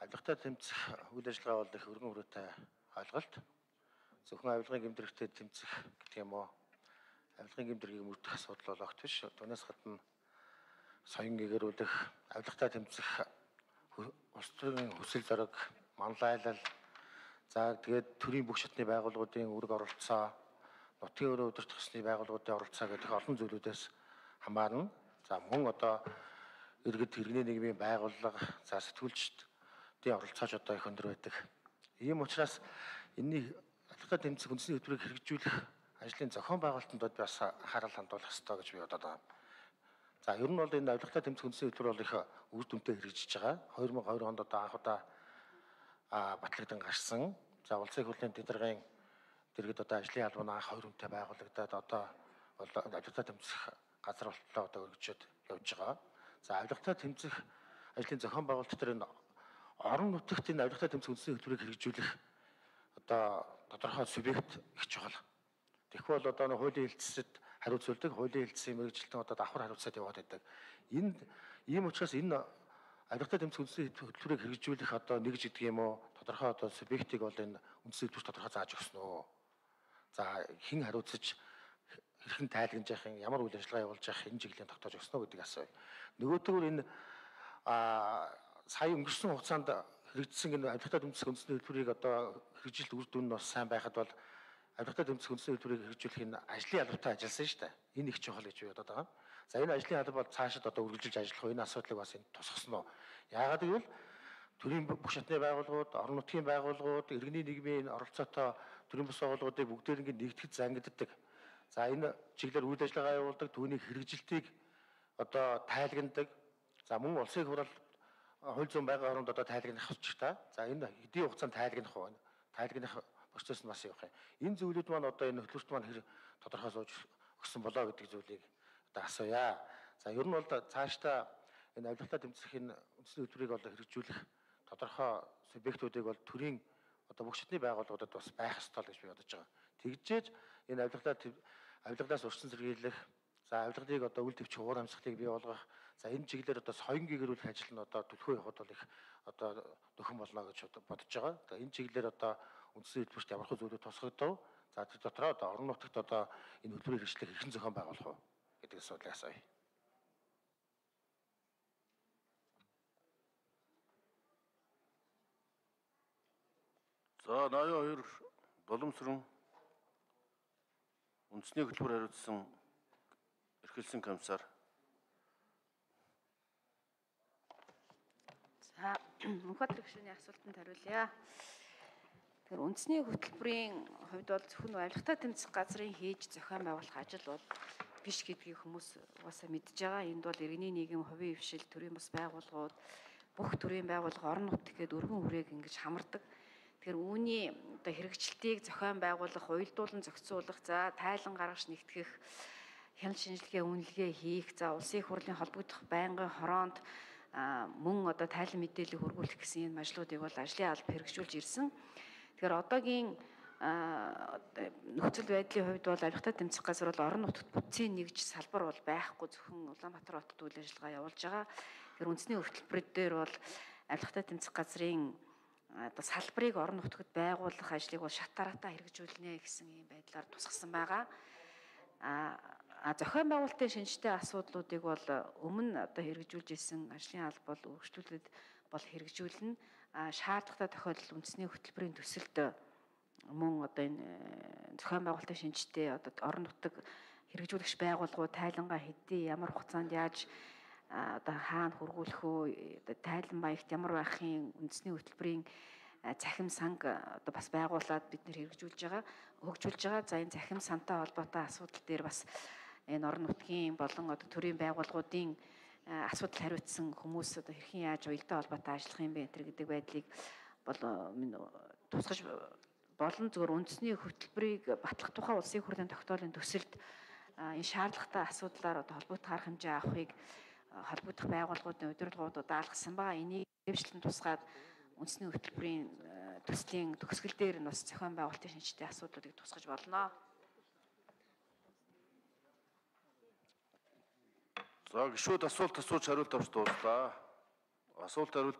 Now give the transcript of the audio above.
авилгатай тэмцэх үйл ажиллагаа бол их өргөн хүрээтэй ойлголт. Зөвхөн авилгын гэмтрэгтэй тэмцэх гэдэг юм уу? Авилгын гэмтрийг мөрдөх асуудал бол огт биш. Түүнээс гадна соён гэгэрүүлэх, авилгатай тэмцэх улс төрийн хүсэл зориг, манлайлал, за тэгээд төрийн бүх шатны байгууллагуудын үүрэг оролцоо, нутгийн өрөө удирдах ёсны байгууллагуудын оролцоо гэдэг олон зүйлүүдээс хамаарна. За мөн одоо иргэд иргэний нийгмийн байгууллага, за сэтгүүлчдийн оролцоож одоо их өндөр байдаг. Ийм учраас энэний авилгатай тэмцэх үндэсний хөтөлбөрийг хэрэгжүүлэх ажлын зохион байгуулалтанд бас анхаарал хандуулах ёстой гэж би бодоод байна. За ер нь бол энэ авилгатай тэмцэх үндэсний хөтөлбөр бол их үр дүнтэй хэрэгжиж байгаа. 2002 онд одоо анх удаа батлагдсан гарсан. За улсын хурлын тэдэргийн дэргэд одоо ажлын албан анх 2 хүнтэй байгуулагдаад одоо бол авилгатай тэмцэх газар болтлоо одоо өргөжөд явж байгаа. За авилгатай тэмцэх ажлын зохион байгуулалт дээр энэ орон нутагт энэ авилгатай тэмцэх үндэсний хөтөлбөрийг хэрэгжүүлэх одоо тодорхой субъект их чухал. Тэгэхгүй бол одоо хуулийн хэлтсэд хариуцуулдаг, хуулийн хэлтсийн мэргэжилтэн одоо давхар хариуцаад яваад байдаг. Ийм учраас энэ авилгатай тэмцэх үндэсний хөтөлбөрийг хэрэгжүүлэх одоо нэгж гэдэг юм уу тодорхой одоо субъектыг бол энэ үндэсний хөтөлбөр тодорхой зааж өгсөн үү. За хэн хариуцаж хэрхэн тайлгнаж явах юм, ямар үйл ажиллагаа явуулж явах энэ чиглэлийн тогтоож өгсөн үү гэдэг асууя. Нөгөөдгөр энэ сая өнгөрсөн хугацаанд хэрэгжсэн энэ авилгатай тэмцэх үндэсний хөтөлбөрийг одоо хэрэгжилт үр дүн нь бас сайн байхад бол авилгатай тэмцэх үндэсний хөтөлбөрийг хэрэгжүүлэх энэ ажлын албатай ажилласан шүү дээ. Энэ их чухал гэж би бодоод байгаа. За энэ ажлын алба бол цаашид одоо үргэлжилж ажиллах энэ асуудлыг бас энэ тусгасан уу? Яагаад гэвэл төрийн бүх шатны байгууллагууд, орон нутгийн байгууллагууд, иргэний нийгмийн оролцоотой төрийн бас байгууллагуудыг бүгдээрээ нэгтгэж зангиддаг. За энэ чиглэлээр үйл ажиллагаа явуулдаг, түүний хэрэгжилтийг одоо тайлгнадаг. За мөн улсын хурал хууль зүйн байнгын оронд одоо тайлгнах хэрэгтэй. За энэ хэдийн хугацаанд тайлгнах уу? Тайлгнах процесс нь бас явах юм. Энэ зүйлүүд маань одоо энэ хөтөлбөрт маань хэр тодорхой сууж өгсөн болоо гэдэг зүйлийг одоо асууя. За ер нь бол цаашдаа энэ авилгатай тэмцэх энэ үндэсний хөтөлбөрийг бол хэрэгжүүлэх тодорхой субъектуудыг бол төрийн одоо бүх шатны байгууллагуудад бас байх ёстой гэж би бодож байгаа. Тэгжээж энэ авилгаас урьдчилан сэргийлэх, за авилгалыг одоо үйл төвч уур амьсгалыг бий болгох, за энэ чиглэлээр одоо соён гэгэрүүлэх ажил нь одоо төлхөө явахд бол их одоо нөхөн болно гэж бодож байгаа. За энэ чиглэлээр одоо үндэсний хөтөлбөрт ямар хөө зүйлүүд тусгагдав? За тэр дотроо одоо орон нутагт одоо энэ хөтөлбөрийг хэрэгжлэх хэрхэн зохион байгуулах вэ гэдэг асуудлыг асууя. За 82 Боломсрон үндэсний хөтөлбөр хариуцсан эрхэлсэн комиссар. За Мөнхбаатар гишүүний асуултанд хариулъя. Тэгэхээр үндэсний хөтөлбөрийн хувьд бол зөвхөн авилгатай тэмцэх газрын хийж зохион байгуулах ажил бол биш гэдгийг хүмүүс угаасаа мэдж байгаа. Энд бол иргэний нийгэм, хувийн хвшил, төрийн бас байгууллагууд, бүх төрийн байгууллага, орон нутг гээд өргөн хүрээг ингэж хамардаг. Тэгэхээр үүний одоо хэрэгжилтийг зохион байгуулах, уялдуулан зохицуулах, за тайлан гаргаж нэгтгэх, хяналт шинжилгээ, үнэлгээ хийх, за улсын хурлын холбогдох байнгын хороонд мөн одоо тайлан мэдээлэл хөрвүүлэх гэсэн энэ ажлуудыг бол ажлын алба хэрэгжүүлж ирсэн. Тэгэхээр одоогийн нөхцөл байдлын хувьд бол авилгатай тэмцэх газар бол орон нутагт бүтцийн нэгж салбар бол байхгүй, зөвхөн Улаанбаатар хотод үйл ажиллагаа явуулж байгаа. Тэгэхээр үндэсний хөтөлбөр дээр бол авилгатай тэмцэх газрын одоо салбарыг орон нутагт байгуулах ажлыг бол шат дараатаа хэрэгжүүлнэ гэсэн ийм байдлаар тусгасан байгаа. Зохион байгуулалтын шинжтэй асуудлуудыг бол өмнө одоо хэрэгжүүлж исэн ажлын алба бол үргэлжлүүлээд бол хэрэгжүүлнэ. Шаардлагатай тохиолдолд үндэсний хөтөлбөрийн төсөлд мөн одоо энэ зохион байгуулалтын шинжтэй одоо орон нутаг хэрэгжүүлэгч байгууллагууд тайлангаа хэдий ямар хугацаанд яаж одоо хаана хөргүүлэх үү, тайлан маягт ямар байхын үндэсний хөтөлбөрийн цахим санг одоо бас байгуулад бид нэр хөгжүүлж байгаа. За энэ цахим сантай холбоотой асуудал дээр бас энэ орон нутгийн болон одоо төрийн байгууллагуудын асуудал хариуцсан хүмүүс одоо хэрхэн яаж уялдаа холбоотой ажиллах юм бэ гэдэг байдлыг бол тусгаж болон зөвхөн үндэсний хөтөлбөрийг батлах тухай улсын хурлын тогтоолын төсөлд энэ шаардлагатай асуудлаар одоо холбогдох арга хэмжээ авахыг холбогдох байгууллагуудын удирдлагуудад даалгасан байгаа. Энийг дэвшлэн тусгаад үндэсний хөтөлбөрийн төслийн төгсгөл дээр нь бас зохион байгуулалтын шинжтэй асуудлуудыг тусгаж болно. За гишүүд асуулт асууж хариулт авч дууслаа. Асуулт хариулт